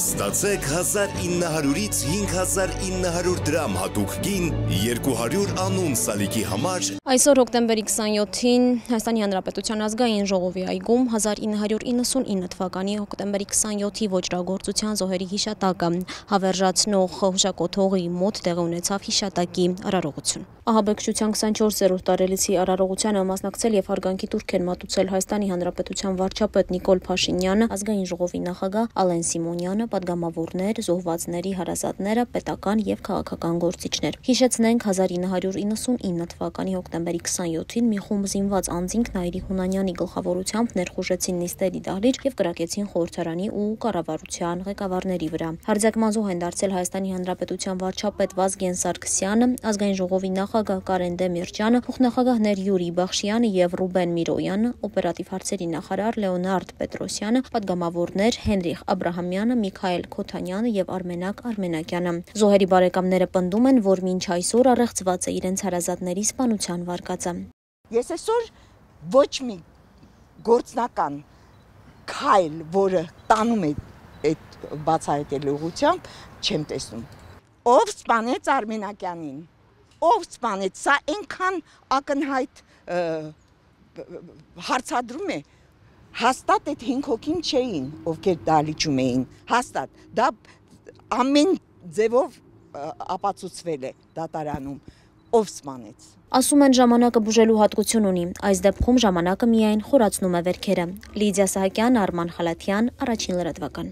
Ստացեք 1900-ից 5900 դրամ հատուկ գին 200 անուն սալիկի համար։ Այսօր հոկտեմբերի 27-ին Հայաստանի Հանրապետության ազգային ժողովի այգում 1999 թվականի հոկտեմբերի 27-ի ոճրագործության զոհերի հիշատակը հավերժացնող հուշակոթողի մոտ տեղի ունեցավ հիշատակի արարողություն։ Ահաբեկչության 24-րդ տարելիցի արարողությանը մասնակցել եւ հարգանքի տուրք են մատուցել Հայաստանի Հանրապետության վարչապետ Նիկոլ Փաշինյանը, ազգային ժողովի նախագահ Ալեն Սիմոնյանը, պատգամավորներ, զոհվածների հարազատները, պետական եւ քաղաքական գործիչներ։ Հիշեցնենք 1999 թվականի հոկտեմբերի 27-ին մի խումբ զինված անձինք Նայիրի Հունանյանի գլխավորությամբ ներխուժեցին նիստերի դահլիճ եւ կրակեցին խորհրդարանի ու կառավարության ղեկավարների վրա։ Հարձակման զոհ են դարձել Հայաստանի Հանրապետության վարչապետ Վազգեն Սարգսյանը, ազգային ժողովի նախագահ Կարեն Դեմիրճյանը, փոխնախագահներ Յուրի Բախշյանը եւ Ռուբեն Միրոյանը, օպերատիվ հարցերի նախարար Լեոնարդ Պետրոսյանը, պատգամավորներ Հենրիխ Աբրահամյանը, Միքայել Քոթանյանը եւ Արմենակ Արմենակյանը։ Զոհերի բարեկամները պնդում են, որ մինչ այսօր առեղծված է իրենց հարազատների սպանության վարկածը։ Ես այսօր ոչ մի գործնական քայլ, որը տանում է այդ բացահայտելու ուղղությամբ, չեմ տեսնում։ Ով սպանեց Արմենակյանին, ով սպանեց, սա այնքան ակնհայտ հարցադրում է, հաստատ այդ 5 հոգին չէին, ովքեր դահլիճում էին, հաստատ, դա ամեն ձևով ապացուցվել է դատարանում, ով սպանեց։ Ասում են ժամանակը բուժելու հատկություն ունի, այս դեպքում ժամանակը միայն խորացնում է վերքերը։ Լիդիա Սահակյան, Արման Խալաթյան, Առաջին լրատվական։